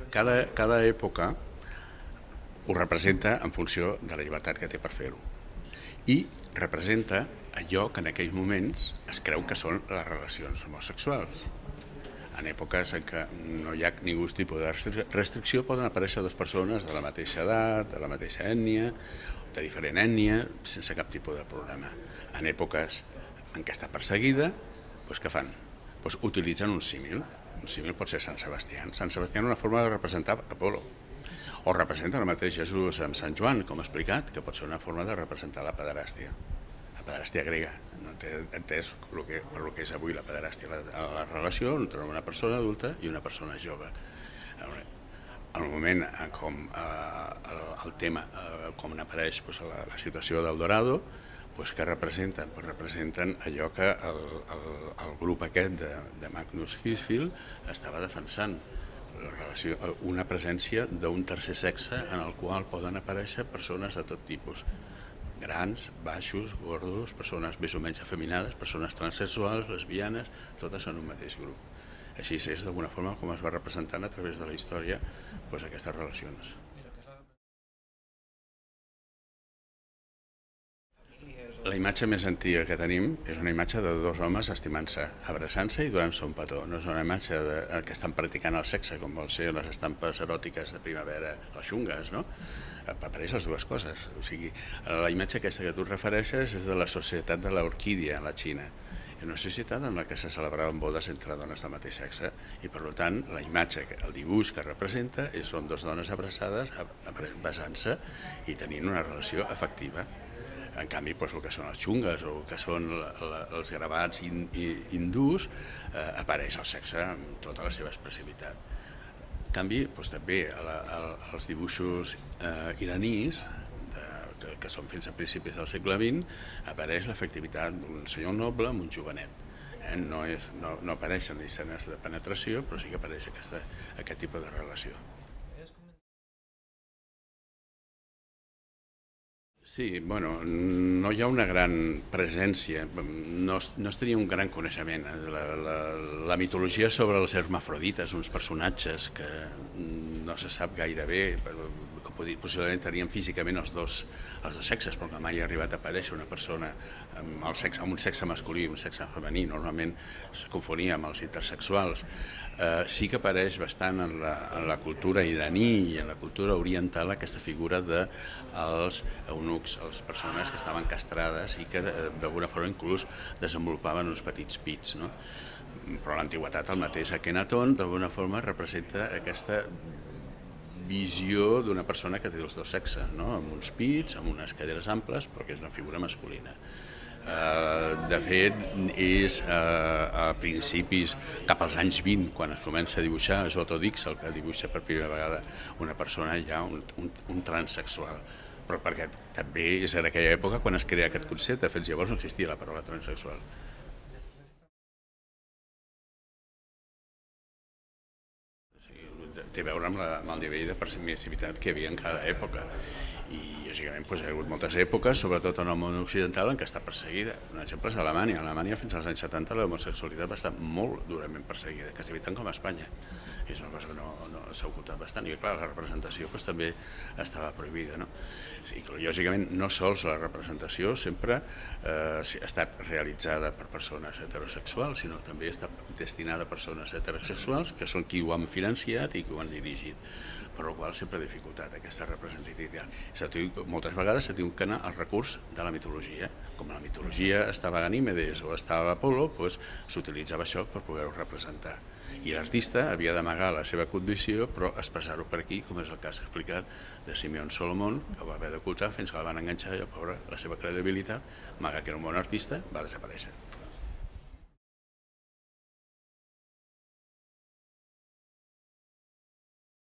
cada època ho representa en funció de la llibertat que té per fer-ho. I representa allò que en aquells moments es creu que són les relacions homosexuals. En èpoques en què no hi ha ningú tipus de restricció poden aparèixer dues persones de la mateixa edat, de la mateixa ètnia, de diferent ètnia, sense cap tipus de problema. En èpoques en què està perseguida, doncs què fan? Doncs utilitzen un símil. Un símil pot ser Sant Sebastià. Sant Sebastià és una forma de representar Apol·lo. O representa el mateix Jesús amb Sant Joan, com he explicat, que pot ser una forma de representar la pederàstia. La pederàstia grega. No té entès per el que és avui la pederàstia. La relació entre una persona adulta i una persona jove. En el moment com el tema, com apareix la situació del Dorado, que representen? Representen allò que el grup aquest de Magnus Hirschfeld estava defensant, una presència d'un tercer sexe en el qual poden aparèixer persones de tot tipus, grans, baixos, gordos, persones més o menys afeminades, persones transsexuals, lesbianes, totes en un mateix grup. Així és d'alguna forma com es va representant a través de la història aquestes relacions. La imatge més antiga que tenim és una imatge de dos homes estimant-se, abraçant-se i donant-se un petó. No és una imatge que estan practicant el sexe, com vol ser les estampes eròtiques de primavera, les xungues, no? Apareix les dues coses. O sigui, la imatge aquesta que tu et refereixes és de la societat de l'orquídia a la Xina. És una societat en la que se celebraven bodes entre dones del mateix sexe i, per tant, la imatge, el dibuix que representa són dues dones abraçades, besant-se i tenint una relació afectiva. En canvi, el que són les xungues o el que són els gravats hindús, apareix el sexe amb tota la seva expressivitat. En canvi, també als dibuixos iranís, que són fins a principis del segle XX, apareix l'efectivitat d'un senyor noble amb un jovenet. No apareixen escenes de penetració, però sí que apareix aquest tipus de relació. Sí, no hi ha una gran presència, no es tenia un gran coneixement. La mitologia sobre els hermafrodites, uns personatges que no se sap gaire bé, que possiblement tenien físicament els dos sexes, però que mai ha arribat a aparèixer una persona amb un sexe masculí i un sexe femení, normalment es confonia amb els intersexuals. Sí que apareix bastant en la cultura iraní i en la cultura oriental aquesta figura dels eunucs, les persones que estaven castrades i que d'alguna forma inclús desenvolupaven uns petits pits. Però a l'antiguitat el mateix Akhenaton d'alguna forma representa aquesta visió d'una persona que té els dos sexes, amb uns pits, amb unes caderes amples, però que és una figura masculina. De fet, és a principis, cap als anys 20, quan es comença a dibuixar, és Otto Dix el que dibuixa per primera vegada una persona ja un transsexual. Però perquè també és en aquella època quan es crea aquest concepte, fins llavors no existia la paraula transsexual. Té a veure amb el nivell de permissivitat que hi havia en cada època. I, lògicament, hi ha hagut moltes èpoques, sobretot en el món occidental, en què està perseguida. Un exemple és Alemanya. A Alemanya, fins als anys 70, l'homosexualitat va estar molt durament perseguida, quasi tant com a Espanya. És una cosa que no s'ha ocultat bastant. I, clar, la representació també estava prohibida. I, lògicament, no sols la representació sempre ha estat realitzada per persones heterosexuals, sinó també està destinada a persones heterosexuals, que són qui ho han financiat i qui ho han dirigit, per la qual sempre ha dificultat aquesta representativitat. Moltes vegades s'ha tingut que anar al recurs de la mitologia. Com a la mitologia estava Ganímedes o estava Apol·lo, s'utilitzava això per poder-ho representar. I l'artista havia d'amagar la seva condició, però expressar-ho per aquí, com és el cas explicat de Simeón Solomon, que ho va haver d'ocultar fins que la van enganxar i el pobre, la seva credibilitat, malgrat que era un bon artista, va desaparèixer.